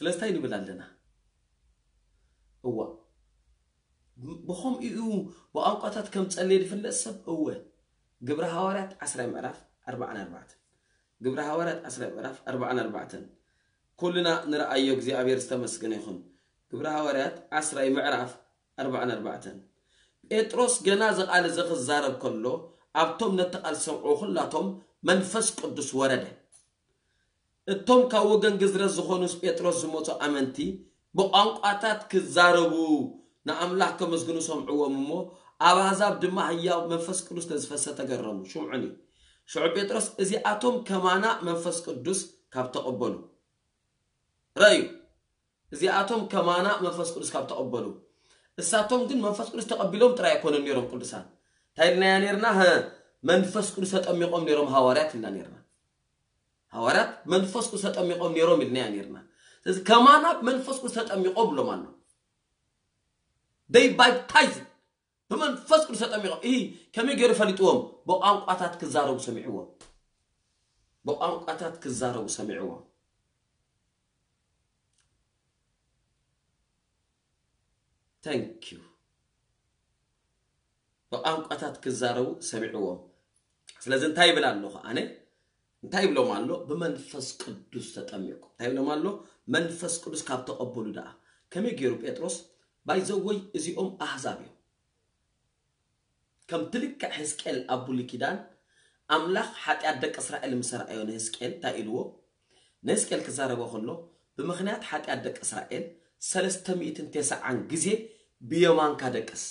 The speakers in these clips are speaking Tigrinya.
ስለዚ እንታይ ንብል ኣለና? እዋ፣ ብኸምኡ እዩ ብቋንቋታት ከም ጸለየ ዝፍለጥ ሰብ። እወ፣ ግብረ ሃዋርያት ዓስራይ ምዕራፍ ኣርባዓን ኣርባዕተን። ግብረ ሃዋርያት ዓስራይ ምዕራፍ ኣርባዓን ኣርባዕተን። ኩልና ንረኣዮ፣ እግዚኣብሔር ዝተመስገነ ይኹን። ግብረ ሃዋርያት ዓስራይ ምዕራፍ ኣርባዓን ኣርባዕተን። ጴጥሮስ ገና እዚ ቃል እዚ ክዛረብ ከሎ፣ ኣብቶም ነቲ ቃል ዝሰምዑ ኩላቶም መንፈስ ቅዱስ ወረደ። እቶም ካብ ወገን ግዝረት ዝኾኑስ ጴጥሮስ ዝመጹ ኣመንቲ ብቋንቋታት ክዛረቡ ንኣምላኽ ከመስግኑ ሰምዕዎም እሞ፣ ኣብ ኣሕዛብ ድማ ህያው መንፈስ ቅዱስ ተዝፈሰ ተገረሙ። ሽምዑኒ። ሽዑ ጴጥሮስ፣ እዚኣቶም ከማና መንፈስ ቅዱስ ካብ ተቐበሉ። ረዩ። እዚኣቶም ከማና መንፈስ ቅዱስ ካብ ተቐበሉ። እሳቶም ግን መንፈስ ቅዱስ ተቐቢሎም ጥራይ ኣይኮነን ነይሮም ቅዱሳን። እንታይ ኢልናያ ነይርና? ሀ፣ መንፈስ ቅዱስ ተጠሚቖም ነይሮም ሃዋርያት ኢልና ነይርና። ሃዋርያት መንፈስ ቅዱስ ተጠሚቖም ነይሮም ኢልናያ ነይርና። ስለዚ ከማና መንፈስ ቅዱስ ተጠሚቖም ብሎም ኣሎ። They baptized። ብመንፈስ ቅዱስ ተጠሚቖም። ይህ ከመይ ገይሩ ፈሊጥዎም? ብቋንቋታት ክዛረቡ ሰሚዕዎም። ብቋንቋታት ክዛረቡ ሰሚዕዎም። Thank you። ብቋንቋታት ክዛረቡ ሰሚዕዎም። ስለዚ እንታይ ይብል ኣለኹ ኣነ? እንታይ ይብሎም ኣሎ? ብመንፈስ ቅዱስ ተጠሚቑ። እንታይ ይብሎም ኣሎ? መንፈስ ቅዱስ ካብ ተቐበሉ ደኣ። ከመይ ገይሩ ጴጥሮስ? ባይዘወይ እዚኦም ኣህዛብ እዮም። ከም ትልክዕ ሕዝቅኤል ኣብ ብሉይ ኪዳን ኣምላኽ ሓጢኣት ደቂ እስራኤል ምስ ረኣዮ ንሕዝቅኤል እንታይ ኢልዎ? ንሕዝቅኤል ክዛረቦ ከሎ፣ ብምኽንያት ሓጢኣት ደቂ እስራኤል ሰለስተ ሚእትን ተስዓን ግዜ ብየማንካ ደቅስ።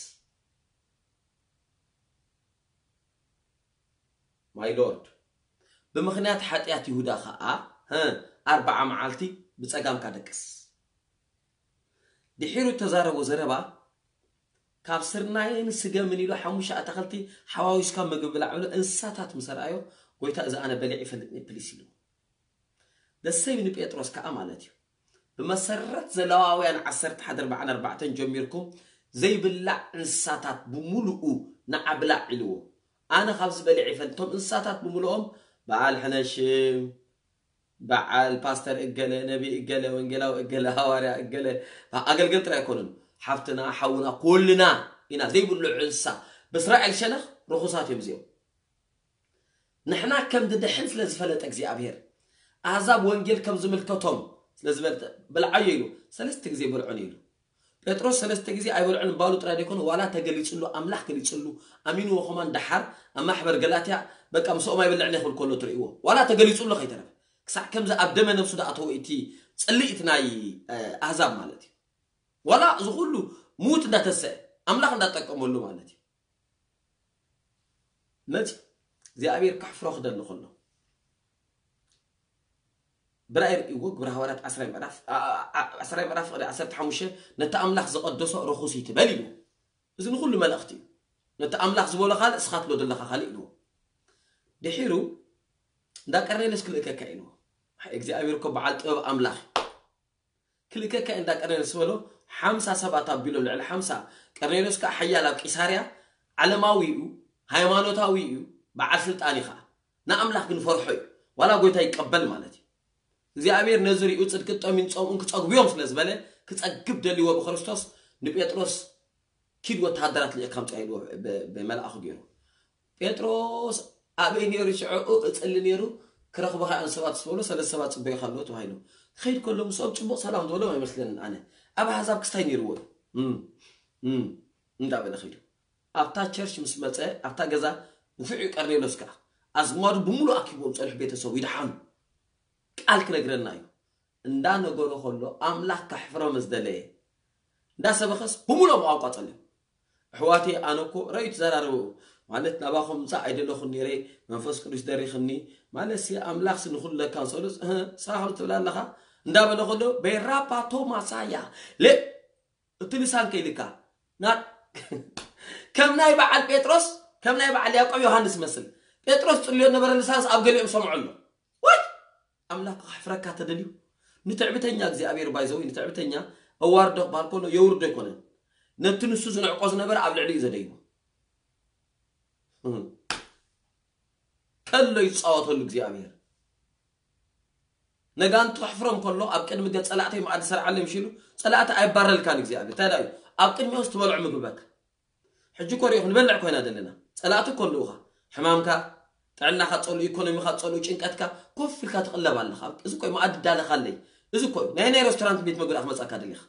My Lord፣ ብምኽንያት ሓጢኣት ይሁዳ ኸዓ፣ ሀ፣ ኣርብዓ መዓልቲ ብጸጋምካ ደቅስ። ድሒሩ እተዛረቦ ዘረባ፣ ካብ ስርናየን ስገምን ኢሉ ሓሙሽተ ኣታኽልቲ ሓዋዊስካ ምግቢ ብላዕ ብሎ እንስሳታት ምስ ረኣዮ፣ ጎይታ እዚ ኣነ በሊዕ ይፈልጥኒ ፕሊስ ኢሉ። ደሰይ ንጴጥሮስ ከኣ ማለት እዩ። ብመሰረት ዘለዋውያን ዓሰርተ ሓደ ኣርባዓን ኣርባዕተን ጀሚርኩም ዘይብላዕ እንስሳታት ብምሉኡ ንዓ ብላዕ ኢልዎ። ኣነ ካብዚ በሊዕ ይፈልጥ። እቶም እንስሳታት ብምሉኦም በዓል ሕነሽም፣ በዓል ፓስተር እገለ፣ ነቢ እገለ፣ ወንጌላዊ እገለ፣ ሃዋርያ እገለ፣ ኣገልገል ጥራይ ኣይኮኑን። ሓፍትና፣ ሓውና፣ ኩልና ኢና ዘይብልዑ እንስሳ። ብእስራኤል ሸነኽ ርኹሳት እዮም እዚኦም። ንሕና ከም ድድሕን ስለ ዝፈለጠ እግዚኣብሔር፣ ኣህዛብ ወንጌል ከም ዝምልከቶም ስለ ዝበለጠ፣ "ብልዓዮ" ኢሉ፣ ሰለስተ ግዜ በልዖን ኢሉ። ጴጥሮስ ሰለስተ ግዜ ኣይበልዖን ባሉ ጥራይ ደይኮነ፣ ዋላ ተገሊጽሉ፣ ኣምላኽ ገሊጽሉ፣ ኣሚንዎ ከማን ደሓር ኣብ ማሕበር ገላትያ፣ በቃ፣ ምስኦም ኣይበልዕን እየ ክብል ከሎ ትርእይዎ። ዋላ ተገሊጽሉ ከይተረፈ። ክሳዕ ከምዚ ኣብ ደመ ነብሱ ዝኣተወ እቲ ጽልኢት ናይ፣ እ፣ ኣህዛብ ማለት እዩ። ዋላ እዚ ኩሉ ምዉት እንዳተሰአ፣ ኣምላኽ እንዳጠቀመሉ ማለት እዩ። መጺ እግዚኣብሔር ከሕፍሮ ክደሊ ከሎ፣ ብራእይ ርእይዎ፣ ግብረ ሃዋርያት ዓስራይ ምዕራፍ፣ ዓ-፣ ዓ-፣ ዓስራይ ምዕራፍ ፍቕዲ ዓሰርተ ሓሙሽተ፣ "ነቲ ኣምላኽ ዝቐደሶ ርኹስ ይትበል" ኢሉ። እዚ ንኹሉ መልእኽቲ እዩ። "ነቲ ኣምላኽ ዝበሎ ካልእ፣ እስኻ ትብሎ ዘለኻ ካልእ" ኢልዎ። ድሒሩ፣ "እንዳ ቀርኔሌዎስ ክልእከካ" ኢልዎ። ኣይ፣ እግዚኣብሔር እኮ በዓል ጥበብ ኣምላኽ እዩ። "ክልእከካ" እንዳ ቀርኔሌዎስ ዝበሎ፣ ሓምሳ ሰባት ኣቢሎም፣ ልዕሊ ሓምሳ። ቀርኔሌዎስ ከኣ ሓያል ኣብ ቂሳርያ፣ ዓለማዊ እዩ፣ ሃይማኖታዊ እዩ፣ በዓል ስልጣን እዩ ከኣ። ንኣምላኽ ግን ፈርሖ እዩ። ዋላ ጎይታ ይቀበል ማለት እዩ። እግዚኣብሔር ነዚ ሪኡ ጽድቂ ጠሚን ጸምኡን ክጸግቡ እዮም ስለ ዝበለ፣ ክጸግብ ደልይዎ ብክርስቶስ ንጴጥሮስ፣ "ኪድ ወተሃደራት ልእካ ኣምጽኣ" ኢልዎ ብ-፣ ብመልኣኹ ገይሩ። ጴጥሮስ ኣበይ ነይሩ ሽዑ? እጽሊ ነይሩ። "ክረኽቡኻ እዮም ሰባት" ምስ በሎ፣ ሰለስተ ሰባት ጽበዩኻ ኣለዉ ተባሂሉ። ክኸይድ ከሎ ምስኦም ጽቡቕ ሰላም ዝበሎም ኣይመስለንን ኣነ። ኣብ ኣህዛብ ክስታይ ነይርዎ እዩ። እም፣ እም፣ እንዳበለ ኸይዱ። ኣብታ ቸርች ምስ መጸ፣ ኣብታ ገዛ ንፉዕ እዩ ቀርኔሎስ ከኣ። ኣዝማዱ ብምሉእ ኣኪቦም ጸኒሑ ቤተሰቡ ይድሓኑ። ቃል ክነግረና እዩ። እንዳነገሮ ከሎ ኣምላኽ ከሕፍሮ ምስ ደለየ፣ እንዳሰበኸስ ብምሉኦም ቋንቋ ጸልዩ። ኣሕዋተይ፣ ኣነ እኮ ረዩ ትዘራረቡ ማለት ናባኹም ምጻእ ኣይደለኹን ነይረ፣ መንፈስ ቅዱስ ደሪኽኒ ማለት ሲ ኣምላኽ ሲ ንኹሉ ለካ ንሰሉስ፣ እህ፣ ንስኻ ከምዚ ትብል ኣለኻ እንዳበለ ከሎ፣ ቤራፓቶ ማሳያ፣ ለ-፣ እቲ ልሳን ከይልካ፣ ና-፣ ከም ናይ በዓል ጴጥሮስ፣ ከም ናይ በዓል ያዕቆብ ዮሃንስ መስል። ጴጥሮስ ጽልዮ ነበረ ልሳንስ ኣብ ገሊኦም ሰምዖ ኣሎ። ወይ! ኣምላኽ ከሕፍረካ ተደልዩ። ንትዕቢተኛ እግዚኣብሔር ባይዘው ንትዕቢተኛ ኣዋርዶ ክበሃል ከሎ የውርዶ ኣይኮነን። ነቲ ንሱ ዝንዕቆ ዝነበረ ኣብ ልዕሊኡ ዘደይቦ። እም። ከሎ ይጻወተሉ እግዚኣብሔር። ነጋንቱ ክሕፍሮም ከሎ ኣብ ቅድሚ ገጽ ጸላእተይ መኣዲ ሰርዓለይ ምሽ ኢሉ፣ ጸላእቲ ኣይባረልካን እግዚኣብሔር። እንታይ ደኣ እዩ? ኣብ ቅድሚኦስ ትበልዖ ምግቢ በካ። ሕጂ እኮ ሪኢኹም ንበልዕ ኮይና ዘለና። ጸላእቲ እኮ ኣለዉኻ። ሕማምካ፣ ጥዕናኻ ጸልኡ፣ ኢኮኖሚኻ ጸልኡ፣ ጭንቀትካ ኮፍ ኢልካ ትቕለብ ኣለኻ። እዚ እኮ እዩ መኣዲ ዳለኻለይ። እዚ እኮ እዩ ናይ ናይ ሬስቶራንት ቤት መግቢ ደኣ ክመጻካ ደሊኻ።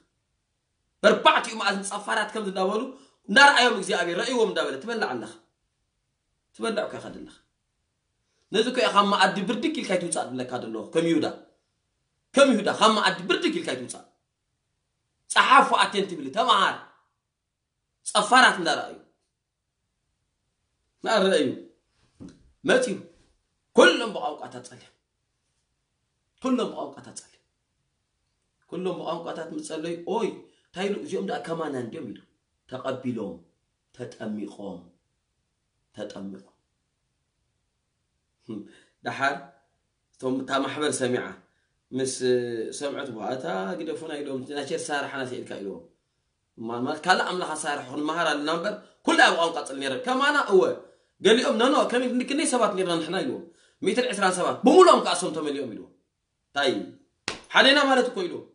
በርባዕቲኡ መኣዝን ጸፋራት ከምዚ እንዳበሉ እንዳረኣዮም እግዚኣብሔር ረእይዎም እንዳበለ ትበልዕ ኣለኻ። ትበልዕ እኮ ኢኻ ዘለኻ። ነዚ እኮ ኢኻ መኣዲ ብርድግ ኢልካ ይትውጻእ ድለካ ደለኹ ከም ይሁዳ። ከም ይሁዳ ካብ መኣዲ ብርድግ ኢልካ ይትውጻእ። ጸሓፉ ኣቴን ትብል ተመሃር። ጸፋራት እንዳረኣዩ ናረኣዩ መጽዩ ኩሎም ብቋንቋታት ጸልዮም። ኩሎም ብቋንቋታት ጸልዮም። ኩሎም ብቋንቋታት ምጸለዩ ኦይ እንታይ ኢሉ እዚኦም ደኣ ከማና እንዲዮም ኢሉ ተቐቢሎም ተጠሚቖም ተጠሚቖም። ደሓር እቶም እታ ማሕበር ሰሚዓ ምስ ሰምዐት በኋላ እታ ግደፉና ኢሎም ናይ ቸርች ሳርሓና ስኢልካ ኢልዎም። ማልማት ካልእ ኣምላኽ ኣሳርሑ ክንመሃር ኣለና እምበር ኩላ ኣብ ቋንቋ ጽል ነይረ ከማና እወ ገሊኦም ነኖ ከመይ ክንደይ ሰባት ነርና ንሕና ኢልዎም ሚእትን ዕስራን ሰባት ብምሎም ከኣ እሶም ተመሊኦም ኢልዎም እንታይ ሓደና ማለት እኮ ኢልዎም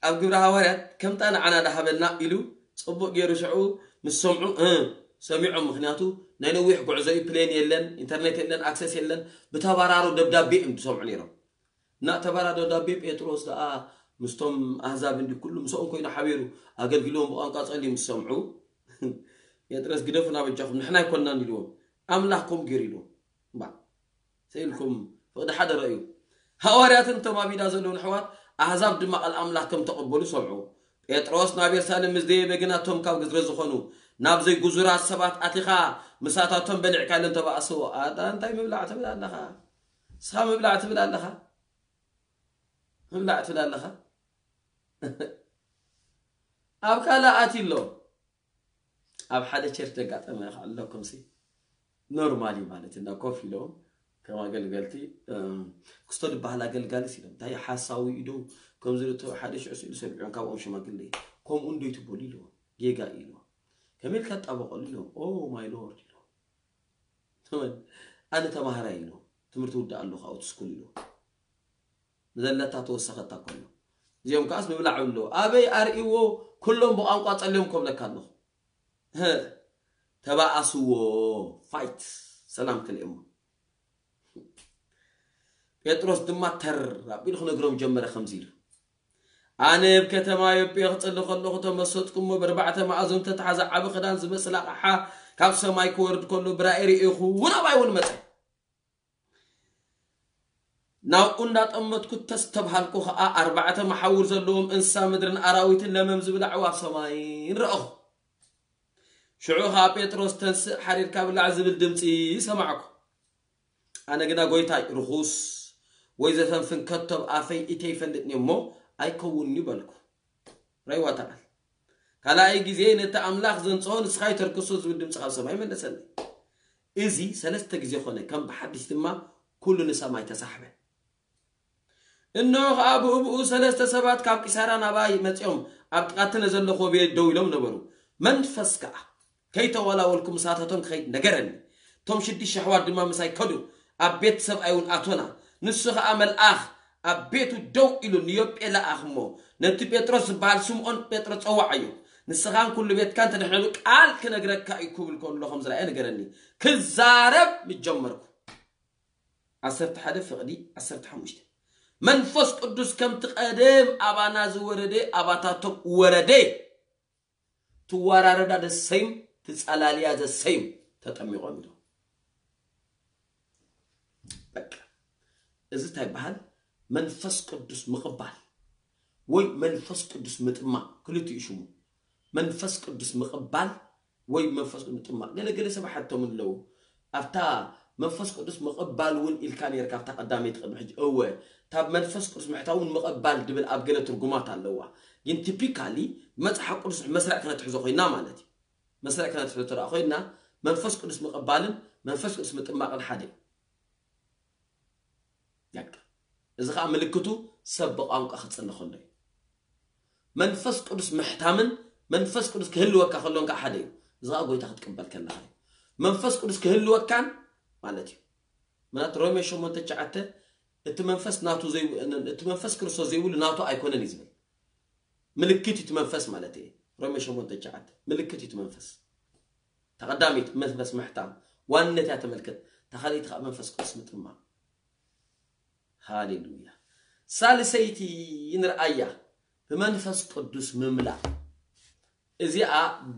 ኣብ ግብረ ሃዋርያት ከምታ ንዓና ዳሃበና ኢሉ ጽቡቅ ገይሩ ሽዑ ምስ ሰምዑ እ ሰሚዖም ምክንያቱ ናይ ነዊሕ ጉዕዞ እዩ ፕሌን የለን ኢንተርኔት የለን ኣክሰስ የለን ብተባራሩ ደብዳቤ እዮም ዝሰምዑ ነይሮም እና ተባራዶ ዳቤ ጴጥሮስ ደኣ ምስቶም ኣህዛብ እንዲ ኩሉ ምስኦም ኮይኑ ሓቢሩ ኣገልግልዎም ብቋንቋ ጸልዩ ምስ ሰምዑ ጴጥሮስ ግደፉና በጃኹም ንሕና ኣይኮንናን ኢልዎም ኣምላኽ ከምኡ ገይሩ ኢልዎም እምባ ሰኢልኩም ፍቕዲ ሓደ ረእዩ ሃዋርያትን እቶም ኣብ ኢዳ ዘለዉ ንሕዋት ኣህዛብ ድማ ቃል ኣምላኽ ከም ተቐበሉ ሰምዑ ጴጥሮስ ናብ የሩሳሌም ምስ ደየበ ግና እቶም ካብ ግዝረ ዝኾኑ ናብ ዘይጉዙራት ሰባት ኣቲኻ ምሳታቶም በሊዕካ ኢሎም ተባእስዎ ኣታ እንታይ ምብላዕ ትብል ኣለኻ ንስኻ ምብላዕ ትብል ኣለኻ ምብላዕ ትብል ኣለኻ ኣብ ካልእ ኣትዩ ኣሎ ኣብ ሓደ ቸርች ደጋጠመ ኣለኩም ሲ ኖርማሊ ማለት እና ኮፍ ኢሎም ከም ኣገልገልቲ ክስቶ ዝበሃል ኣገልጋሊ ሲሎም እንታይ ሓሳዊ ኢዶ ከምዚ ሓደ ሽዑ ስኢሉ ሰሚዖም ካብኦም ሽማግለ ከምኡ እንዶ ይትበሉ ኢልዎ ጌጋ ኢልዎ ከመይ ኢልካ ትጣበቀሉ ኢልዎም ኦ ማይ ሎርድ ኢልዎ ኣነ ተማሃራይ ኢልዎ ትምህርቲ ውዳእ ኣለኹ ኣብቲ ስኩል ኢልዎ ንዘለታ ተወሰኸታ ኮሎ እዚኦም ከዓስ ምብላዕ ብሎ ኣበይ ኣርእዎ ኩሎም ብቋንቋ ጸልዮም ኮብለካ ኣለኹ ተባኣስዎ ፋይት ሰላም ክልእሞ ጴጥሮስ ድማ ተር ኣቢሉ ክነግሮም ጀመረ ከምዚ ኢሉ ኣነ ኣብ ከተማ ዮጴ ክጽሊ ከለኹ ተመሰጥኩ እሞ ብርባዕተ ማእዞም ተተሓዘ ዓቢ ክዳን ዝመስል ኣቕሓ ካብ ሰማይ ክወርድ ከሎ ብራእይ ርእኹ እውን ኣባይ እውን መጸ ናብኡ እንዳጠመትኩ ተስተብሃልኩ ኸዓ ኣርባዕተ መሓውር ዘለዎም እንስሳ ምድርን ኣራዊትን ለመም ዝብል ኣዕዋፍ ሰማይን ረኣኹ። ሽዑ ኸዓ ጴጥሮስ ተንስእ ሓዲርካ ብላዕ ዝብል ድምፂ ሰማዕኩ። ኣነ ግና ጐይታይ፣ ርኹስ ወይ ዘፈንፍን ከቶ ኣብ ኣፈይ እተይፈልጥኒ እሞ ኣይከውንን'ዩ በልኩ። ራይዋ ተቓል ካልኣይ ግዜ ነቲ ኣምላኽ ዘንጽሆ ንስኻ ኣይተርክሶ ዝብል ድምጺ ካብ ሰማይ መለሰለይ። እዚ ሰለስተ ግዜ ኾነ፣ ከም ብሓድሽ ድማ ኩሉ ንሰማይ ተሳሕበ። እንሆ ኸኣ ብእብኡ ሰለስተ ሰባት ካብ ቂሳራ ናባይ መጺኦም ኣብ ጥቓ እቲ ነዘለኹዎ ቤት ደው ኢሎም ነበሩ። መንፈስ ከኣ ከይተወላወልኩ ምሳታቶም ክኸይድ ነገረኒ። እቶም ሽዱሽተ ኣሕዋት ድማ ምሳይ ከዱ፣ ኣብ ቤት ሰብኣይ እውን ኣቶና። ንሱ ኸኣ መልኣኽ ኣብ ቤቱ ደው ኢሉ ንዮጴ ለኣኽ እሞ፣ ነቲ ጴጥሮስ ዝበሃል ስምዖን ጴጥሮስ ጸውዓዮ። ንስኻን ኩሉ ቤትካን ተድሕነሉ ቃል ክነግረካ እዩ ክብል ከሎ ከም ዝረኣየ ነገረኒ። ክዛረብ ምስ ጀመርኩ። ዓሰርተ ሓደ ፍቕዲ ዓሰርተ ሓሙሽተ መንፈስ ቅዱስ ከምቲ ቀደም ኣባና ዝወረደ ኣባታቶም ወረደ። ትወራረዳ the same ትጸላልያ the same ተጠሚቖም ኢሉ በቃ እዚ እንታይ ይበሃል መንፈስ ቅዱስ ምቕባል ወይ መንፈስ ቅዱስ ምጥማቕ ክልቲኡ ሽሙ መንፈስ ቅዱስ ምቕባል ወይ መንፈስ ቅዱስ ምጥማቕ ገለገለ ሰብ ሓቶም ኣለዉ ኣብታ መንፈስ ቅዱስ ምቕባል እውን ኢልካ ነርካ ኣብታ ቀዳመይቲ ቅድሚ ሕጂ እወ ካብ መንፈስ ቅዱስ ምሕታውን ምቕባል ድብል ኣብ ገለ ትርጉማት ኣለዋ ግን ቲፒካሊ ብመፅሓፍ ቅዱስ መስርዕ ክነትሕዞ ኮይና ማለት እዩ መስርዕ ክነትሕዞ ተደኣ ኮይና መንፈስ ቅዱስ ምቕባልን መንፈስ ቅዱስ ምጥማቕን ሓደ እዩ እዚ ከዓ ምልክቱ ሰብ ብቋንቋ ክፅሊ ከሎ እዩ መንፈስ ቅዱስ ምሕታምን መንፈስ ቅዱስ ክህልወካ ከሎን ከዓ ሓደ እዩ እዚ ከዓ ጎይታ ክትቅበል ከለካ እዩ መንፈስ ቅዱስ ክህልወካን ማለት እዩ ምናት ሮሜ ሸሞንተ ትሽዓተ እቲ መንፈስ ናቱ ዘይ እቲ መንፈስ ክርስቶስ ዘይብሉ ናቱ ኣይኮነን እዩ ዝብል። ምልክት እዩ እቲ መንፈስ ማለት እዩ። ሮሜ ሸሞንተ ትሽዓተ ምልክት እዩ እቲ መንፈስ። ተቐዳሚት መንፈስ ምሕታም ዋንነት እያ ተመልከት። ተኻሊት ከዓ መንፈስ ቅዱስ ምጥማም። ሃሌሉያ። ሳልሰይቲ ንርኣያ ብመንፈስ ቅዱስ ምምላእ። እዚኣ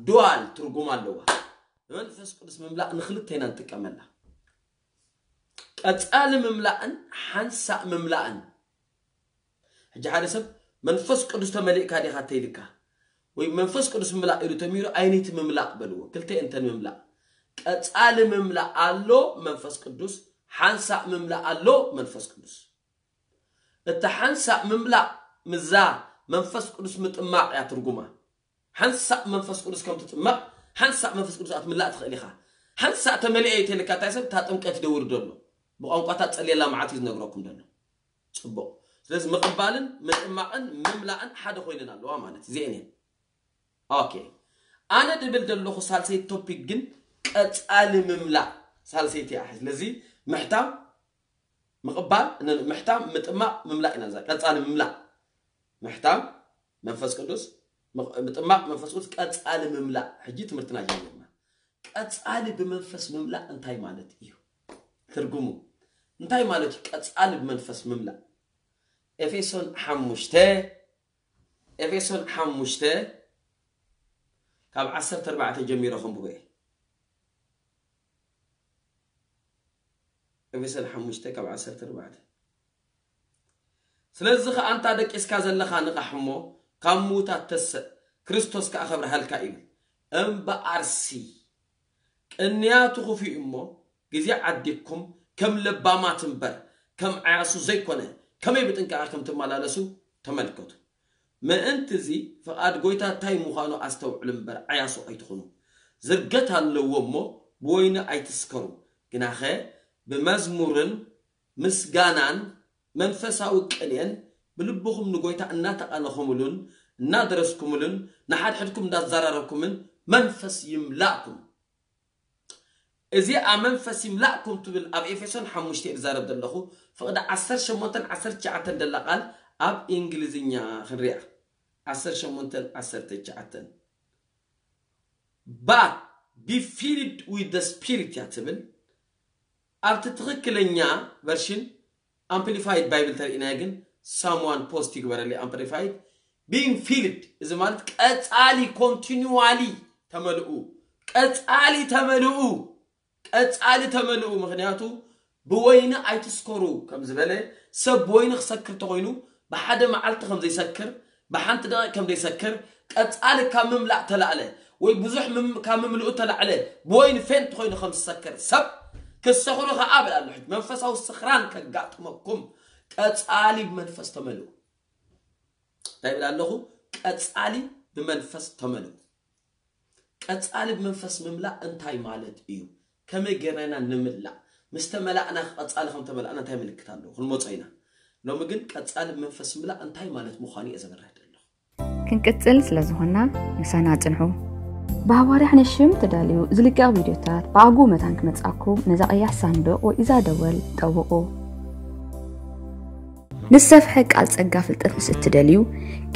ዱዋል ትርጉም ኣለዋ። ብመንፈስ ቅዱስ ምምላእ ንክልተ ኢና ንጥቀመላ። ቀጻሊ ምምላእን ሓንሳእ ምምላእን። ሕጂ ሓደ ሰብ መንፈስ ቅዱስ ተመሊእካ ዲኻ ተይልካ ወይ መንፈስ ቅዱስ ምላእ ኢሉ ተሚሩ ኣይነይቲ ምምላእ በልዎ። ክልተ እንተን ምምላእ ቀጻሊ ምምላእ ኣሎ መንፈስ ቅዱስ፣ ሓንሳእ ምምላእ ኣሎ መንፈስ ቅዱስ። እቲ ሓንሳእ ምምላእ ምዛ መንፈስ ቅዱስ ምጥማቕ እያ ትርጉማ። ሓንሳእ መንፈስ ቅዱስ ከም ትጥመቕ ሓንሳእ መንፈስ ቅዱስ ኣትምላእ ትኽእል ኢኻ። ሓንሳእ ተመሊአ እዩ ተልካ እንታይ ሰብ እታ ጥምቀት ይደውር ደሎ ብቋንቋታት ጸልየላ መዓት እዩ ዝነግረኩም ደሎ። ጽቡቕ። ስለዚ ምቕባልን ምጥማቕን ምምላእን ሓደ ኮይነን ኣለዋ ማለት እዚአን እየን። ኦኬ። ኣነ ድብል ደለኹ ሳልሰይቲ ቶፒክ ግን ቀጻሊ ምምላእ ሳልሰይቲ እያ። ስለዚ ምሕታም ምቕባል ን- ምሕታም ምጥማቕ ምምላእ ኢና እዛ ቀጻሊ ምምላእ ምሕታም መንፈስ ቅዱስ ምቕ- ምጥማቕ መንፈስ ቅዱስ ቀጻሊ ምምላእ። ሕጂ ትምህርትና ጀሚርና። ቀጻሊ ብመንፈስ ምምላእ እንታይ ማለት እዩ? ትርጉሙ እንታይ ማለት እዩ? ቀጻሊ ብመንፈስ ምምላእ ኤፌሶን ሓሙሽተ ኤፌሶን ሓሙሽተ ካብ ዓሰርተ ኣርባዕተ ጀሚረ ከንብቦ እየ። ኤፌሶን ሓሙሽተ ካብ ዓሰርተ ኣርባዕተ ስለዚ ኸኣ ኣንታ ደቂስካ ዘለኻ ንቓሕ እሞ ካብ ምዉታት ተስእ፣ ክርስቶስ ከኣ ኸብርሃልካ ይብል። እምበኣርሲ ቅንያቱ ኽፉእ እሞ ግዜ ዓዲግኩም ከም ለባማት እምበር ከም ዓያሱ ዘይኮነ ከመይ ብጥንቃቐ ከም ትመላለሱ ተመልከቱ። ምእንቲ እዚ ፍቓድ ጐይታ እንታይ ምዃኑ ኣስተውዕሉ እምበር ዓያሱ ኣይትኹኑ። ዝርገት ኣለዎ እሞ ብወይኒ ኣይትስከሩ፣ ግናኸ ብመዝሙርን ምስጋናን መንፈሳዊ ቅኔን ብልብኹም ንጐይታ እናተቓነኹምሉን እናደረስኩምሉን ንሓድሕድኩም እንዳዛራረብኩምን መንፈስ ይምላእኩም። እዚ ኣብ መንፈስ ይምላእኩም ትብል ኣብ ኤፌሶን ሓሙሽተ እየ ዝዛረብ ዘለኹ። ፍቕዲ ዓሰርተ ሸሞንተን ዓሰርተ ትሽዓተን ደላ ቃል ኣብ እንግሊዝኛ ክንሪኣ። ዓሰርተ ሸሞንተን ዓሰርተ ትሽዓተን But be filled with the spirit እያ ትብል። ኣብቲ ትኽክለኛ ቨርሽን ኣምፕሊፋይድ ባይብል ተርእናዮ ግን ሳምዋን ፖስት ይግበረለይ ኣምፕሊፋይድ being filled እዚ ማለት ቀጻሊ ኮንቲኒዋሊ ተመልኡ ቀጻሊ ተመልኡ ቀጻሊ ተመልኡ ምክንያቱ ብወይኒ ኣይትስከሩ ከም ዝበለ ሰብ ብወይኒ ክሰክር ተኮይኑ ብሓደ መዓልቲ ከም ዘይሰክር ብሓንቲ ደቂቅ ከም ዘይሰክር ቀጻሊ ካብ ምምላእ ተላዕለ ወይ ብዙሕ ምም- ካብ ምምልኡ ተላዕለ ብወይኒ ፌንት ኮይኑ ከም ዝሰክር ሰብ ክሰኽሩ ከኣ ብላ ኣሎ ሕጂ መንፈሳዊ ስኽራን ከጋጥመኩም ቀጻሊ ብመንፈስ ተመልኡ እንታይ ብላ ኣለኹ ቀጻሊ ብመንፈስ ተመልኡ ቀጻሊ ብመንፈስ ምምላእ እንታይ ማለት እዩ ከመይ ጌርና ኢና ንምላእ ምስ ተመላእና ቀጻሊ ከም ተመላእና እንታይ ምልክት ኣለዎ ክንመጾ ኢና ሎሚ ግን ቀጻሊ ብመንፈስ ምላእ እንታይ ማለት ምዃኑ እየ ዘብርህ ዘለኹ ክንቅጽል ስለ ዝኾንና ምሳና ጽንሑ ብሃዋርያ ሕነሽም ተዳልዩ ዝልቀቕ ቪድዮታት ብኣግኡ መታን ክመጻኩም ነዛ ቀያሕ ሳንዱቕ ወይ እዛ ደወል ጠውቑ ንዝሰፍሐ ቃል ጸጋ ፍልጠት ምስ እትደልዩ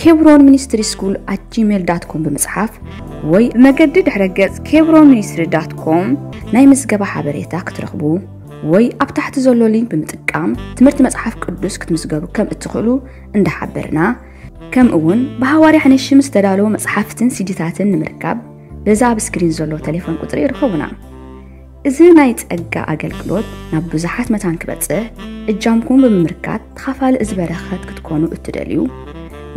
ኬብሮን ሚኒስትሪ ስኩል ኣት ጂሜል ዳት ኮም ብምጽሓፍ ወይ ብመገዲ ድሕረ ገጽ ኬብሮን ሚኒስትሪ ዳት ኮም ናይ ምዝገባ ሓበሬታ ክትረኽቡ ወይ ኣብ ታሕቲ ዘሎ ሊንክ ብምጥቃም ትምህርቲ መጽሓፍ ቅዱስ ክትምዝገቡ ከም እትኽእሉ እንዳሓበርና ከምኡ እውን ብሃዋርያ ሕነሽም ዝተዳለዉ መጽሓፍትን ሲዲታትን ንምርካብ በዛ ኣብ ስክሪን ዘሎ ቴሌፎን ቁጽሪ ይርኸቡና። እዚ ናይ ጸጋ ኣገልግሎት ናብ ብዙሓት መታን ክበጽሕ እጃምኩም ብምምርካት ተኻፋሊ እዚ በረኸት ክትኮኑ እትደልዩ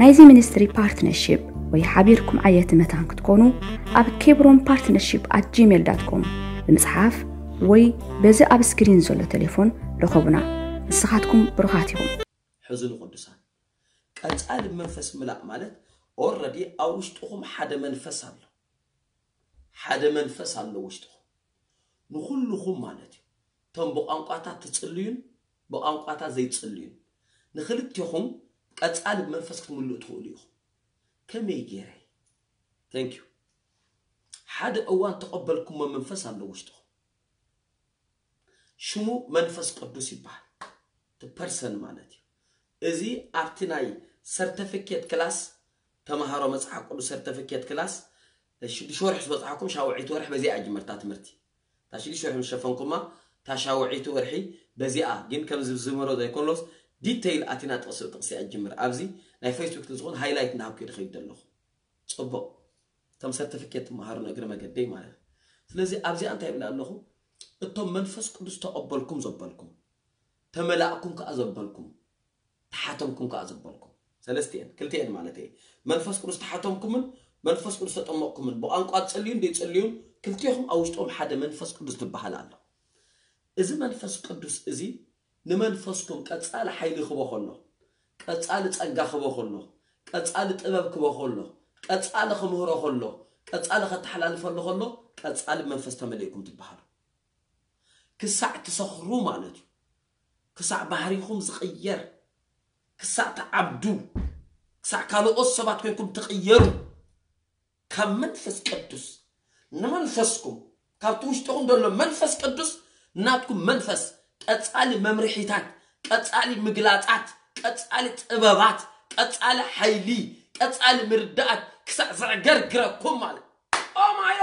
ናይዚ ሚኒስትሪ ፓርትነርሺፕ ወይ ሓቢርኩም ዓየቲ መታን ክትኮኑ ኣብ ኬብሮን ፓርትነርሺፕ ኣት ጂሜል ዳት ኮም ብምጽሓፍ ወይ በዚ ኣብ ስክሪን ዘሎ ቴሌፎን ርኸቡና። ንስኻትኩም ብሩኻት ኢኹም። ሕዝኑ ቅዱሳን ቀጻሊ ብመንፈስ ምላእ ማለት ኦረዲ ኣብ ውሽጥኹም ሓደ መንፈስ ኣሎ ሓደ መንፈስ ኣሎ ውሽጥኹም ንኹልኹም ማለት እዩ እቶም ብቋንቋታት ትጽልዩን ብቋንቋታት ዘይትጽልዩን ንክልቴኹም ቀጻሊ ብመንፈስ ክትምልኡ ትኽእሉ ኢኹም ከመይ ገይረ thank you ሓደ እዋን ተቐበልኩሞ መንፈስ ኣሎ ውሽጥኹም ሽሙ መንፈስ ቅዱስ ይበሃል person ማለት እዩ። እዚ ኣብቲ ናይ ሰርተፊኬት ክላስ፣ ተምሃሮ መፅሓፍ ቅዱስ ሰርተፊኬት ክላስ ሽዱሽተ ወርሒ ዝበፅሓኩም ሻውዒት ወርሒ በዚኣ ጅምርታ ትምህርቲ። እታ ሽዱሽተ ወርሒ ምስ ሸፈንኩማ፣ እታ ሻውዒት ወርሒ በዚኣ ግን ከምዚ ዝምሮ ዘይኮኖስ ዲቴይል ኣቲና ጥቕሲ ብጥቕሲ እያ ጅምር። ኣብዚ ናይ ፌስቡክ ዝኾን ሃይላይት እንዳሃብኩ ይድኸይድ ዘለኹ። ፅቡቕ። ከም ሰርቲፊኬት ትመሃሩ ንእግሪ መገደይ ማለት እዩ። ስለዚ ኣብዚኣ እንታይ ይብል ኣለኹ? እቶም መንፈስ ቅዱስ ተቐበልኩም ዘበልኩም፣ ተመላእኩም ከኣ ዘበልኩም፣ ተሓተምኩም ከኣ ዘበልኩም፣ ሰለስቲኤን ክልቲኤን ማለት እየ። መንፈስ ቅዱስ ተሓተምኩምን መንፈስ ቅዱስ ተጠመቕኩምን፣ ብቋንቋ ትጽልዩን ዘይጽልዩን፣ ክልቲኹም ኣብ ውሽጦም ሓደ መንፈስ ቅዱስ ዝበሃል ኣሎ። እዚ መንፈስ ቅዱስ እዚ ንመንፈስኩም ቀጻሊ ሓይሊ ክቦ ከሎ፣ ቀጻሊ ጸጋ ክቦ ከሎ፣ ቀጻሊ ጥበብ ክቦ ከሎ፣ ቀጻሊ ክምህሮ ከሎ፣ ቀጻሊ ከተሓላልፈሉ ከሎ፣ ቀጻሊ መንፈስ ተመሊእኩም ትበሃሉ። ክሳዕ ትሰኽሩ ማለት እዩ። ክሳዕ ባህሪኹም ዝቕየር፣ ክሳዕ ትዓብዱ፣ ክሳዕ ካልኦት ሰባት ኮይንኩም ትቕየሩ። ካብ መንፈስ ቅዱስ ንመንፈስኩም፣ ካብቲ ውሽጥኹም ዘሎ መንፈስ ቅዱስ ናትኩም መንፈስ ቀጻሊ መምርሒታት፣ ቀጻሊ ምግላጻት፣ ቀጻሊ ጥበባት፣ ቀጻሊ ሓይሊ፣ ቀጻሊ ምርዳኣት ክሳዕ ዘዕገርግረኩም ማለት። ኦማዮ!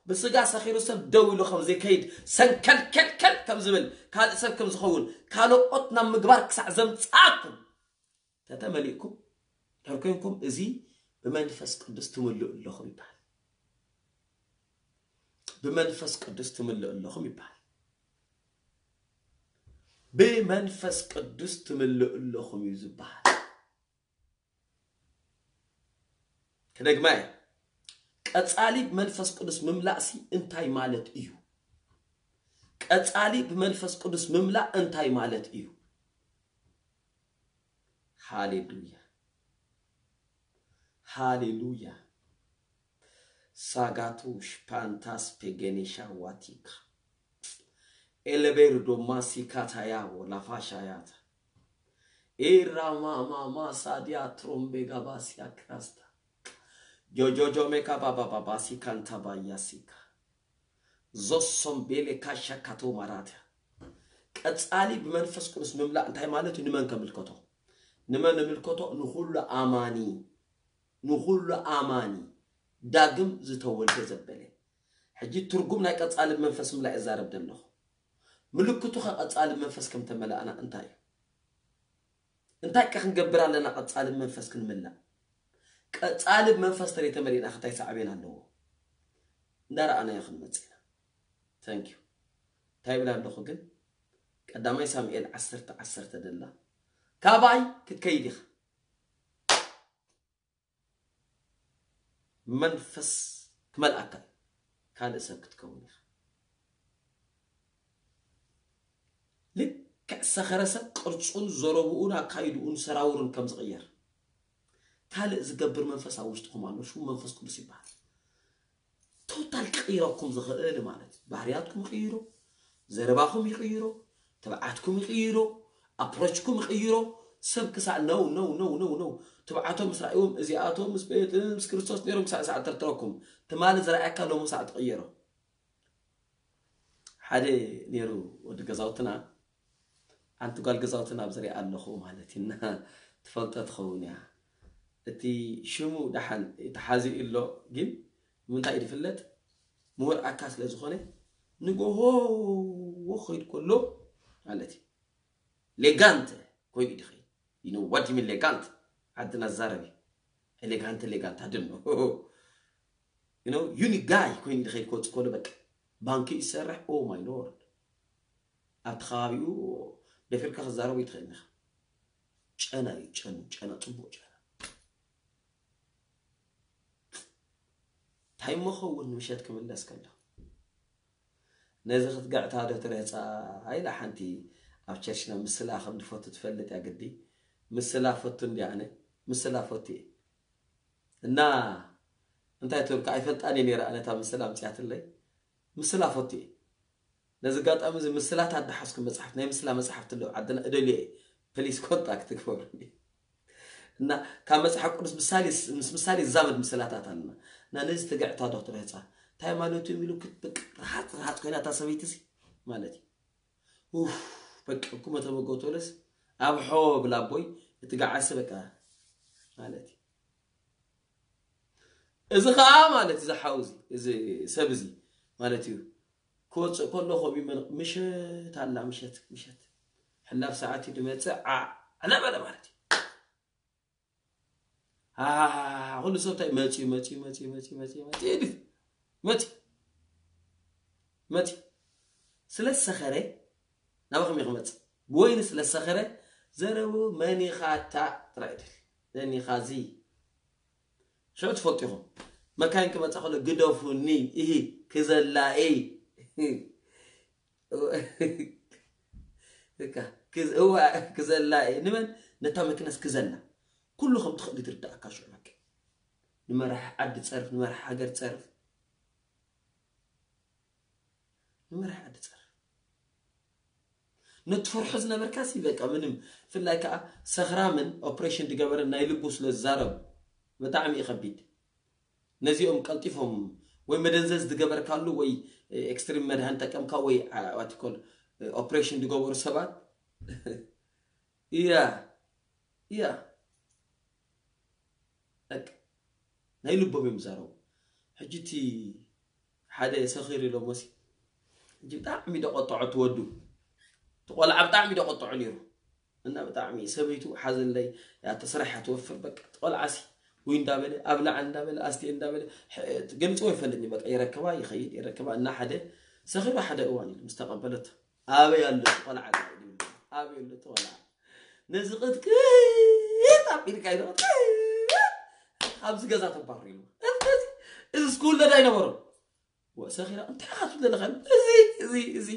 ብስጋ ሰኺሩ ሰብ ደው ኢሉ ከም ዘይከይድ፣ ሰንከልከልከል ከም ዝብል፣ ካልእ ሰብ ከም ዝኸውን፣ ካልኦት ናብ ምግባር ክሳዕ ዘምጻእኩም ተተመሊእኩም ድሕር ኮይንኩም፣ እዚ ብመንፈስ ቅዱስ ትምልኡ ኣለኹም ይበሃል። ብመንፈስ ቅዱስ ትምልኡ ኣለኹም ይበሃል። ብመንፈስ ቅዱስ ትምልኡ ኣለኹም እዩ ዝበሃል። ክደግማ እየ። ቀጻሊ ብመንፈስ ቅዱስ ምምላእሲ እንታይ ማለት እዩ? ቀጻሊ ብመንፈስ ቅዱስ ምምላእ እንታይ ማለት እዩ? ሃሌሉያ፣ ሃሌሉያ። ሳጋቱ ሽፓንታስ ፔጌኔሻ ዋቲካ ኤለቤር ዶማ ሲካታያቦ ላፋሻያታ ኤራማማማ ሳዲያ ትሮምቤ ጋባሲያ ክራስታ ጆጆጆ ሜካ ባባባባሲ ካንታ ባያሲካ ዞሶም ቤሌ ካሻ ካቶ ማራትያ። ቀጻሊ ብመንፈስ ቅዱስ ምምላእ እንታይ ማለት እዩ? ንመን ከምልከቶ? ንመን ንምልከቶ? ንኹሉ ኣማኒ፣ ንኹሉ ኣማኒ ዳግም ዝተወልደ ዘበለ። ሕጂ ትርጉም ናይ ቀጻሊ ብመንፈስ ምምላእ እዛረብ ዘለኹ። ምልክቱ ከ ቀጻሊ ብመንፈስ ከም ተመላእና እንታይ እዩ? እንታይ ከ ክንገብር ኣለና ቀጻሊ ብመንፈስ ክንምላእ? ቀጻሊ ብመንፈስ ተለይ ተመሊእና ከ እንታይ ሳዕቤን ኣለዎ? እንዳረኣናዮ ክንመጽእ ኢና። Thank you። እንታይ ይብል ኣለኹ ግን? ቀዳማይ ሳሙኤል ዓሰርተ ዓሰርተ ደላ ካባይ ክትከይድ ኢኻ። መንፈስ ክመልኣካ እዩ። ካልእ ሰብ ክትከውን ኢኻ። ልክዕ ሰኸረ ሰብ ቅርጹን ዘረብኡን ኣካይድኡን ሰራውሩን ከም ዝቕየር፣ ካልእ ዝገብር መንፈስ ኣብ ውሽጥኹም ኣሎ። ሽሙ መንፈስ ቅዱስ ይበሃል። ቶታል ክቕይረኩም ዝኽእል ማለት እዩ። ባህርያትኩም ይቕይሮ፣ ዘረባኹም ይቕይሮ፣ ትብዓትኩም ይቕይሮ፣ ኣፕሮችኩም ይቕይሮ። ሰብ ክሳዕ ነው ነው ነው ነው ነው ትብዓቶም ምስ ረኣይዎም እዚኣቶም ምስ ምስ ክርስቶስ ነይሮም ክሳዕ ሳዕ ተርትረኩም። ትማሊ ዝረኣየካ ሎሚ ሳዕ ትቕየሮ። ሓደ ነይሩ ወዲ ገዛውትና፣ ሓንቲ ጓል ገዛውትና ኣብ ዝሪኣ ኣለኹ ማለት እዩ። እና ትፈልጦ ትኸውን እያ። እቲ ሽሙ ደሓን ተሓዚኡ ኣሎ፣ ግን ንምንታይ እዩ ዝፍለጥ? ምሁር ኣካ ስለ ዝኾነ ንጎሆ ክኸይድ ከሎ ማለት እዩ። ሌጋንት ኮይኑ እዩ ዝኸይድ። You know what you mean ሌጋንት? ዓድና ዝዛረብ እዩ። ኤሌጋንት፣ ሌጋንት፣ I don't know። You know, ዩኒክ ጋይ ኮይኑ እዩ ዝኸይድ ክወፅእ ከሎ በቃ ባንኪ እዩ ዝሰርሕ። Oh my lord። ኣብቲ ከባቢኡ ደፊርካ ክዛረቡ ይትኽእል ኢኻ። ጨና እዩ፣ ጨኑ፣ ጨና፣ ፅቡቕ ጨና። እንታይ እሞ ኸውን ንምሸት ክምለስ ከሎ? ነዚ ክትግዕታ ዶ ትረህጻ? ኢላ ሓንቲ ኣብ ቸርችና ምስላ ከም ዝፈቱ ትፈልጥ እያ ግዲ። ምስላ ፈቱ እንዲ ኣነ፣ ምስላ ፈቱ እየ። እና እንታይ ትብል ከ ኣይፈልጣን እየ ነይረ ኣነ እታ ምስላ ኣምጽኣትለይ። ምስላ ፈቱ እየ። ነዚ ኣጋጣሚ እዚ ምስላታት ዝሓዝኩ መጽሓፍቲ፣ ናይ ምስላ መጽሓፍቲ ኣለዉ ዓድና እደልዮ እየ። ፕሊስ ኮንታክት ግበሩኒ። እና ካብ መጽሓፍ ቅዱስ ምሳሌ ምስ ምሳሌ ዝዛመድ ምስላታት ኣለና። እና ነዚ ትግዕታ ዶ ትረህጻ? እንታይ ማለት እዩ ኢሉ ክት-፣ በቃ ርሃጽ ርሃጽ ኮይና እታ ሰበይቲ እዚ ማለት እዩ። ኡፍ፣ በቃ እኩመ ተመገቱ በለስ ኣብ ሖ ብላ ኣቦይ እቲ ገዓሲ በቃ ማለት እዩ። እዚ ከዓ ማለት እዚ ሓው እዚ እዚ ሰብ እዚ ማለት እዩ ክወፅእ ከሎ ከምኡ ይመን ምሸት ኣላ ምሸት ምሸት ሕላፍ ሰዓት እዩ ድመፅእ ዓዕለ በለ ማለት እዩ። ኩሉ ሰብ እንታይ መፅዩ መፅዩ መፅዩ መፅዩ መፅዩ መፅዩ ይብል መፅዩ መፅዩ ስለ ዝሰኸረ ናባኹም እዩ ክመፅእ ብወይኒ ስለ ዝሰኸረ ዘረቡ መኒኻታ ጥራይ ድል መኒኻዚ ሽዑ ትፈልጡ ኢኹም መካይን ክመፃ ከሎ ግደፉኒ እሂ ክዘላ እይ እዋ ክዘላ እየ ንመን ነታ መኪናስ ክዘላ ኩሉ ከም ትኽእል ትርዳእካ ሽዑ በቃ ንመራሕ ዓዲ ፀርፍ ንመራሕ ሃገር ፀርፍ ንመራሕ ዓዲ ፀርፍ ነቲ ፈርሖ ዝነበርካ ሲ በቃ ምንም ፍላይ ከዓ ሰኽራምን ኦፕሬሽን ዝገበረ ናይ ልቡ ስለ ዝዛረቡ ብጣዕሚ እዩ ከቢድ ነዚኦም ቀልጢፎም ወይ መደንዘዝ ዝገበርካሉ ወይ ኤክስትሪም መድሃን ጠቀምካ ወይ ዋቲኮል ኦፕሬሽን ዝገበሩ ሰባት እያ እያ ናይ ልቦም እዮም ዝዛረቡ ሕጂ እቲ ሓደ ሰኺሩ ኢሎሞ ሲ ሕጂ ብጣዕሚ ደቆጠዖ ትወዱ ትቆልዓ ብጣዕሚ ደቆጠዖ ነይሩ እና ብጣዕሚ ሰበይቱ ሓዘለይ ያተ ስራሕ ትወፍር በቃ ትቆልዓ ሲ ወይ እንዳበለ ኣብ ላዕሊ እንዳበለ ኣስቴ እንዳበለ ገልፅዎ ይፈልጥኒ በቃ ይረክባ ይኸይድ ይረክባ እና ሓደ ሰኺሩ ሓደ እዋን ኢሉ ምስ ተቐበለቶ ኣበይ ኣሎ እቲ ቆልዓ ኣበይ ኣሎ እቲ ቆልዓ ነዚ ቅጥቅጥ ኣቢልካ ኢሉ ኣብዚ ገዛ ተባሩ ኢሉ እዚ ስኩል ለዳ ኣይነበሮም ሰኺራ እንታይ ኢኻ ትብል ዘለኻ እዚ እዚ እዚ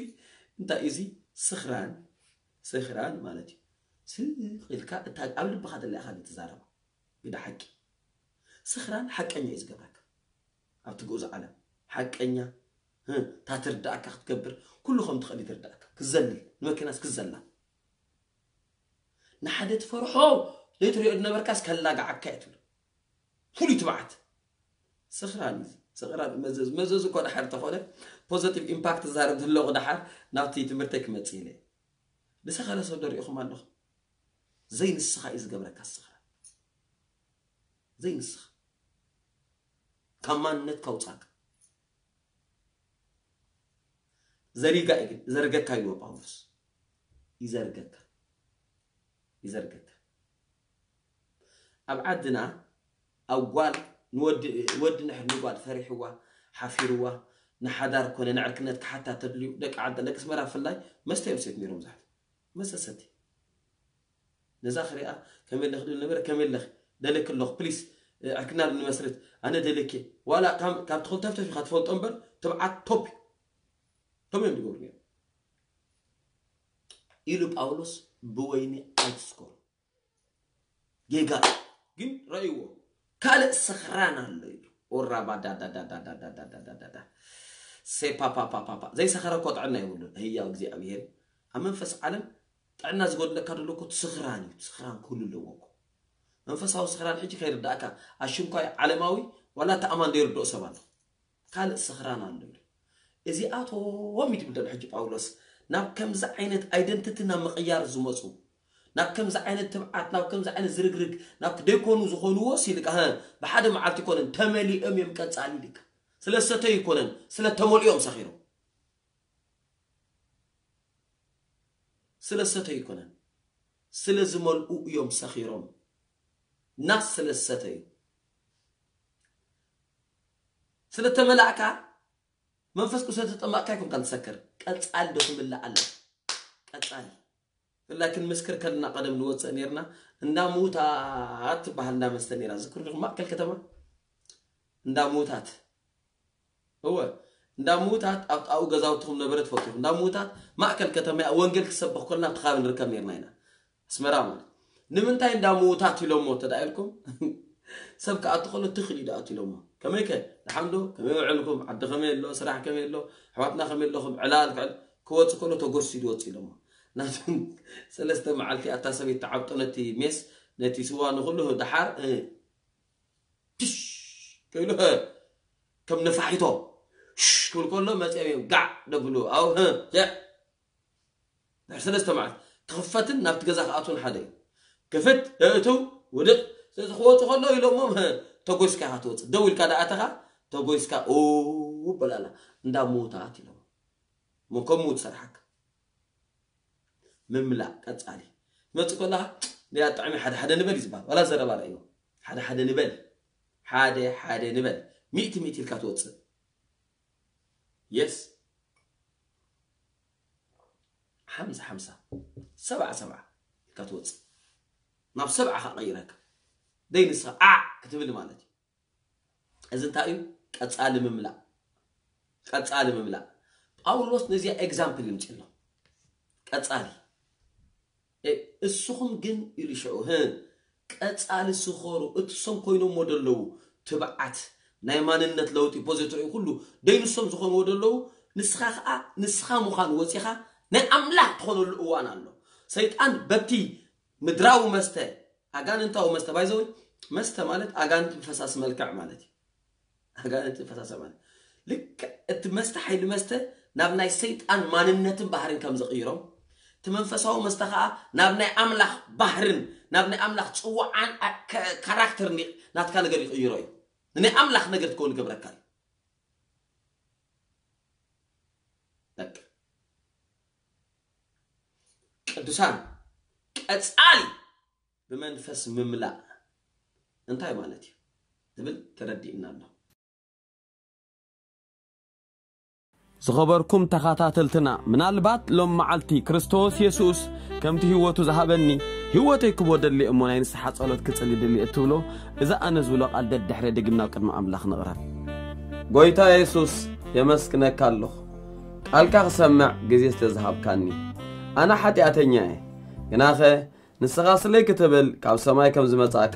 እንታይ እዚ ስኽራን ስኽራን ማለት እዩ ስኽ ኢልካ እታ ኣብ ልብኻ ዘላ ኢኻ ትዛረባ ግዳ ሓቂ ስኽራን ሓቀኛ እዩ ዝገብረካ ኣብቲ ግኡዝ ዓለም ሓቀኛ እታ ትርዳእካ ክትገብር ኩሉ ከም ትኽእል ይትርዳእካ ክዘልል ንመኪናስ ክዘላ ንሓደ ትፈርሖ ዘይትሪኦ ዝነበርካስ ከላግዓካ እየ ትብሎ ፍሉይ ትብዓት ስኽራን እዩ ስኽራን መዘዝ መዘዝ እኮ ድሓር ተኾነ ፖዘቲቭ ኢምፓክት ዝዛረብ ዘለኹ ድሓር ናብቲ ትምህርተይ ክመፅእ ኢለ ዝሰኸረ ሰብ ደሪእኹም ኣለኹም ዘይንስኻ እዩ ዝገብረካ ስኽራን ዘይንስኻ ካብ ማንነት ካውፃካ ዘሪጋ ዘርገካ ይብሎ ጳውሎስ ይዘርገካ ይዘርገካ ኣብ ዓድና ኣብ ጓል ንወዲ ወዲ ንሕር ንጓል ፈሪሕዋ ሓፊርዋ ንሓዳር ኮነ ንዕርክነት ክሓታ ተድልዩ ደቂ ዓዲ ደቂ ስመራ ፍላይ መስተ እዮም ሴት ነይሮም ዛሕት መስተ ሰቲ ነዛ ክሪኣ ከመይ ኣለኺ ድብል ነበረ ከመይ ኣለኺ ደለኪ ኣለኹ ፕሊስ ዕርክና ንመስርት ኣነ ደለኪ ዋላ ካብ ትኽልተፍተፍ ኢኻ ትፈልጦ እምበር ትብዓት ቶፕ ከምኡ እዮም ዝገብሩ ነይሮም ኢሉ ጳውሎስ ብወይኒ ኣይትስከሩ ጌጋ ግን ረእይዎ ካልእ ስኽራን ኣሎ ኢሉ ኦራባ ዳዳዳዳዳዳዳዳዳ ሴፓፓፓፓፓ ዘይሰኸረ እኮ ጥዕና የብሉን ህያው እግዚኣብሔር ኣብ መንፈስ ዓለም ጥዕና ዝጎድለካ ደሎ እኮ ስኽራን እዩ ስኽራን ክህሉ ኣለዎ እኮ መንፈሳዊ ስኽራን ሕጂ ከይርዳእካ ኣሽንኳይ ዓለማዊ ዋላ ተኣማን ዘይርድኦ ሰብ ኣሎ ካልእ ስኽራን ኣሎ ኢሉ እዚኣቶም እዩ ትብል ዘሎ ሕጂ ጳውሎስ ናብ ከምዚ ዓይነት ኣይደንቲቲ ናብ ምቕያር ዝመፁ ናብ ከምዚ ዓይነት ትብዓት ናብ ከምዚ ዓይነት ዝርግርግ ናብ ደይኮኑ ዝኾንዎ ሲልካ ብሓደ መዓልቲ ይኮነን ተመሊኦም እዮም ቀፃሊ ኢልካ ስለ ሰተዩ ይኮነን ስለ ተመልኦም ሰኺሮም ስለ ሰተዩ ይኮነን ስለ ዝመልኡ እዮም ሰኺሮም ናስ ስለ ሰተዩ ስለ ተመላእካ መንፈስ ቅዱስ ተጠማእካ ይኮንካ ትሰክር ቀፃል ዶ ክምላእ ኣለ ቀፃል ብፍላይ ክንምስክር ከለና ቀደም ንወፅእ ነርና እንዳ ምውታት ትበሃል እንዳ መስተ ነራ ዝክሩ ዲኹም ማእከል ከተማ እንዳ ምውታት እወ እንዳ ምውታት ኣብ ጣኡ ገዛውትኹም ነበረ ትፈልጡ እንዳ ምውታት ማእከል ከተማ ወንጌል ክሰበኽ ከለና ኣብቲ ከባቢ ንርከብ ነርና ኢና ኣስመራ ማለት ንምንታይ እንዳ ምውታት ኢሎሞ ተዳ ኢልኩም ሰብ ክኣቱ ከሎ ትኽል እዩ ደኣቱ ኢሎሞ ከመይ ከ ደሓንዶ ከመይ ውዕልኩም ዓዲ ከመይ ኣሎ ስራሕ ከመይ ኣሎ ኣሕዋትና ከመይ ኣለኹም ዕላል ክዕል ክወፅ ከሎ ተጎርሲ ድወፅ ኢሎሞ ናቱ ሰለስተ መዓልቲ ኣታ ሰበይት ተዓብጦ ነቲ ሜስ ነቲ ስዋ ንኩሉ ደሓር ትሽ ከይሉ ከም ነፋሒቶ ክብል ከሎ መፅኦም እዮም ጋዕ ደብሉ ኣው ድሕሪ ሰለስተ መዓልቲ ክኽፈትን ናብቲ ገዛ ክኣትውን ሓደ እዩ። ክፍት፣ እእትው፣ ውድቕ። ስለዚ ክወፁ ከለዉ ኢሎሞም፣ ተጎስካ ኢኻ ትወፅእ። ደው ኢልካ ዳኣተኻ፣ ተጎስካ፣ ኡ፣ በላላ። እንዳ ምውታት ኢሎም። ሞ ከም ምውት ሰርሓካ። ምምላእ፣ ቀፃሊ። ትመፅእ ከለኻ፣ ያ ጥዕሚ ሓደ ሓደ ንበል እዩ ዝበሃል። ዋላ ዘረባ ርእይዎ። ሓደ ሓደ ንበል። ሓደ ሓደ ንበል። ሚእቲ ሚእቲ ኢልካ ትወፅእ። የስ። ሓምሳ ሓምሳ። ሰብዓ ሰብዓ ኢልካ ትወፅእ። ናብ ሰብዓ ከቐይረካ። ደይ ንስኻ ዓዕ ክትብል ማለት እዩ። እዚ እንታይ እዩ? ቀፃሊ ምምላእ። ቀፃሊ ምምላእ። ጳውሎስ ነዚኣ ኤግዛምፕል ይምፅእ ኣሎ። ቀፃሊ። እ-፣ እስኹም ግን ኢሉ ሽዑ፣ ህ፣ ቀፃሊ ስኸሩ፣ እቲ እሶም ኮይኖምዎ ደለዉ ትብዓት፣ ናይ ማንነት ለውጢ፣ ፖዚቲቭ ኩሉ ደይ ንሶም ዝኾንዎ ደለዉ፣ ንስኻ ኸዓ፣ ንስኻ ምዃን ወፂኻ ናይ ኣምላኽ ትኾነሉ እዋን ኣሎ። ሰይጣን በቲ ምድራዊ መስተ፣ ኣጋንንታዊ መስተ፣ ባይዘወይ፣ መስተ ማለት ኣጋንንትን ፈሳሲ መልክዕ ማለት እዩ። ኣጋንንትን ፈሳሲ ማለት ልክዕ እቲ መስተ ሓይሊ መስተ ናብ ናይ ሰይጣን ማንነትን ባህርን ከም ዝቕይሮም፣ እቲ መንፈሳዊ መስተ ኸዓ ናብ ናይ ኣምላኽ ባህርን ናብ ናይ ኣምላኽ ጽዋዓን ኣ-፣ ከ-፣ ካራክተር ኒ-፣ ናትካ ነገር ይቕይሮ እዩ። ንናይ ኣምላኽ ነገር ትከውን ይገብረካ እዩ። በቃ። ቅዱሳን፣ ቀጻሊ ብመንፈስ ምምላእ እንታይ ማለት እዩ ዝብል ተረዲእና ኣሎ። ዝኸበርኩም ተኸታተልትና፣ ምናልባት ሎም መዓልቲ ክርስቶስ የሱስ ከምቲ ህይወቱ ዝሃበኒ ህይወተይ ክቦ ደሊ እሞ ናይ ንስሓ ጸሎት ክጽሊ ደሊ እትብሎ፣ እዚ ኣነ ዝብሎ ቃል ደድሕረ ደጊም ናብ ቅድሚ ኣምላኽ ንቕረብ። ጎይታ የሱስ፣ የመስግነካ ኣለኹ፣ ቃልካ ክሰምዕ ግዜ ስለ ዝሃብካኒ። ኣነ ሓጢኣተኛ እየ፣ ግናኸ ንስኻ ስለይ ክትብል ካብ ሰማይ ከም ዝመጻእካ፣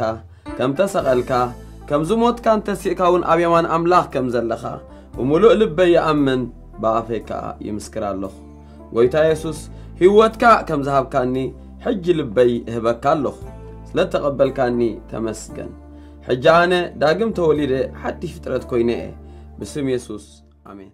ከም ተሰቐልካ፣ ከም ዝሞትካን ተሲእካ እውን ኣብ የማን ኣምላኽ ከም ዘለኻ ብምሉእ ልበይ ይኣምን፣ ብኣፈይ ከኣ ይምስክር ኣለኹ። ጎይታ የሱስ፣ ህይወትካ ከም ዝሃብካኒ ሕጂ ልበይ እህበካ ኣለኹ። ስለ እተቐበልካኒ ተመስገን። ሕጂ ኣነ ዳግም ተወሊደ ሓድሽ ፍጥረት ኮይነ እየ። ብስም የሱስ፣ ኣሜን።